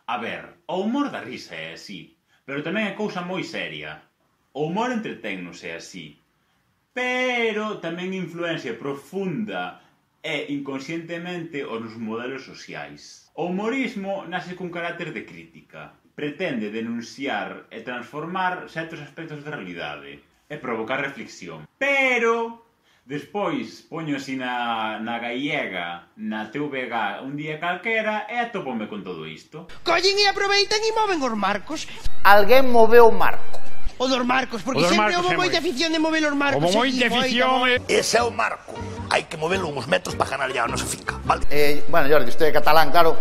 A ver, o humor da risa é así, pero tamén é cousa moi seria. O humor entretennos é así, pero tamén influencia profunda e inconscientemente os nos modelos sociais. O humorismo nace cun carácter de crítica. Pretende denunciar e transformar certos aspectos da realidade e provocar reflexión. Pero despois poño así na gallega, na TVG un día calquera e atopome con todo isto. Collen e aproveitan e moven os marcos. Alguén moveu o marco. O dos marcos, porque sempre houve moita afición de mover os marcos. Houve moita afición. Ese é o marco. Hai que movelo uns metros para ganar ya a nosa finca, vale? Bueno, Jordi, usted é catalán, claro.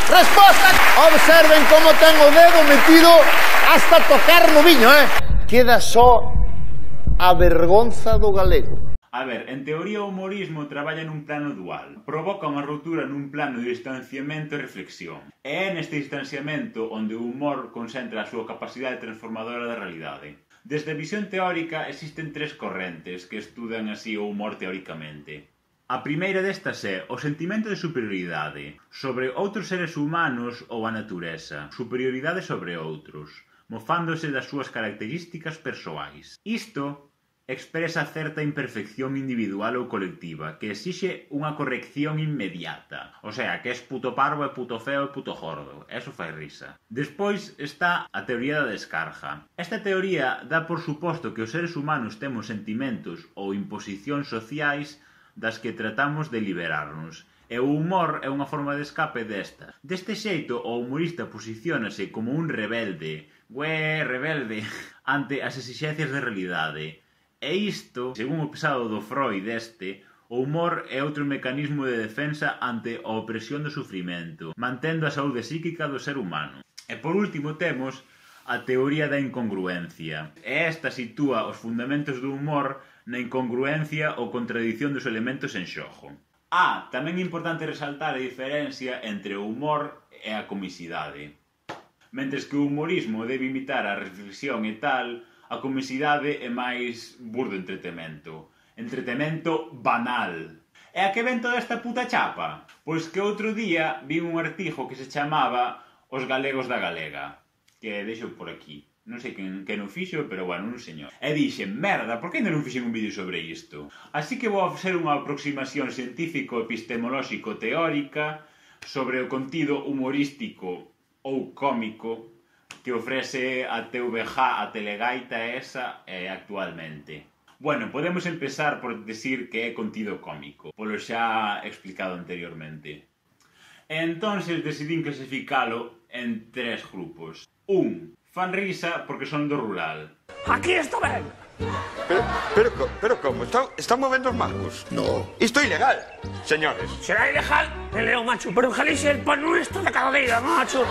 Resposta! Observen como ten o dedo metido hasta tocar no viño, Queda só a vergonza do galego. A ver, en teoría o humorismo traballa nun plano dual. Provoca unha ruptura nun plano de distanciamento e reflexión. E é neste distanciamento onde o humor concentra a súa capacidade transformadora da realidade. Desde a visión teórica existen tres correntes que estudan así o humor teóricamente. A primeira destas é o sentimento de superioridade sobre outros seres humanos ou a natureza, superioridade sobre outros, mofándose das súas características persoais. Isto expresa certa imperfección individual ou colectiva que exixe unha corrección inmediata. O sea, que es puto parvo e puto feo e puto gordo. Eso fai risa. Despois está a teoría da descarga. Esta teoría dá por suposto que os seres humanos temos sentimentos ou imposicións sociais das que tratamos de liberarnos. E o humor é unha forma de escape destas. Deste xeito, o humorista posiciónase como un rebelde, rebelde, ante as exixencias da realidade. E isto, según o pesado do Freud o humor é outro mecanismo de defensa ante a opresión do sufrimento, mantendo a saúde psíquica do ser humano. E por último temos a teoría da incongruencia. E esta sitúa os fundamentos do humor na incongruencia ou contradición dos elementos en xogo. Tamén é importante resaltar a diferencia entre o humor e a comicidade. Mentres que o humorismo debe imitar a reflexión e tal, a comicidade é máis burdo entretemento. Entretemento banal. E a que ven toda esta puta chapa? Pois que outro día vi un artigo que se chamaba Os galegos da galega, que deixo por aquí. Non sei quen o fixo, pero bueno, un señor. E dixen, merda, por que ainda non fixen un vídeo sobre isto? Así que vou a facer unha aproximación científico-epistemolóxico-teórica sobre o contido humorístico ou cómico que ofrece a TVG, a Telegaita esa actualmente. Bueno, podemos empezar por decir que é contido cómico, polo xa explicado anteriormente. Entonces decidín clasificalo en tres grupos. Fan risa porque son do rural. Aquí está ben. Pero como? Están movendo os marcos? No. Isto é ilegal, señores. Será ilegal, Leo, macho, pero en Galicia el pan nuestro de cada día, macho.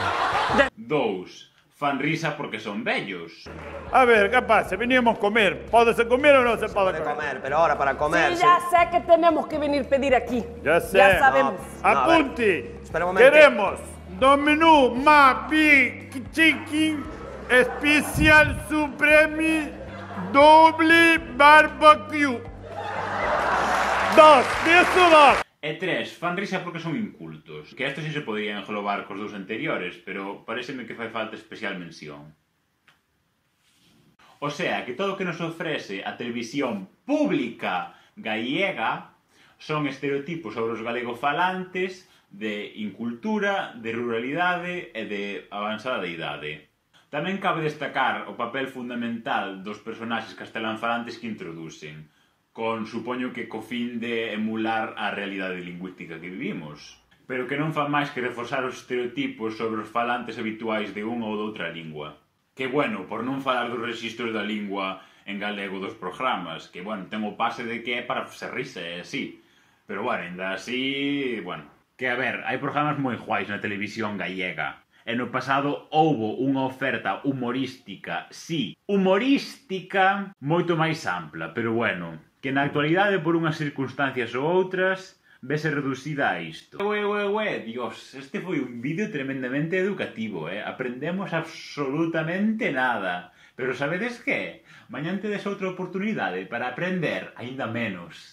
Fan risa porque son bellos. A ver, ¿qué pasa? Veníamos a comer. ¿Pódese comer o no se puede Comer, pero ahora para comer. Sí, ya sé que tenemos que venir a pedir aquí. Ya sé. Ya sabemos. Apunte. Espera un momento. Queremos do menú más big chicken especial supreme doble barbecue. 2, eso 2. E 3, fan risa porque son incultos. Que estos sí se podían englobar cos dous anteriores, pero pareceme que fai falta especial mención. O sea, que todo o que nos ofrece a televisión pública gallega son estereotipos sobre os galegofalantes de incultura, de ruralidade e de avanzada idade. Tamén cabe destacar o papel fundamental dos personaxes castelanfalantes que introducen, con, supoño que co fin de emular a realidade lingüística que vivimos, pero que non fan máis que reforzar os estereotipos sobre os falantes habituais de unha ou doutra lingua. Que, bueno, por non falar dos rexistros da lingua en galego dos programas, que, bueno, ten o pase de que é para ser risa, é así. Pero, bueno, ainda así, bueno. Que, a ver, hai programas moi guais na televisión gallega. E no pasado houbo unha oferta humorística, sí, humorística, moito máis ampla, pero, bueno, que na actualidade, por unhas circunstancias ou outras, vese reducida a isto. Dios, este foi un vídeo tremendamente educativo, Aprendemos absolutamente nada. Pero sabedes que? Mañán tedes outra oportunidade para aprender aínda menos.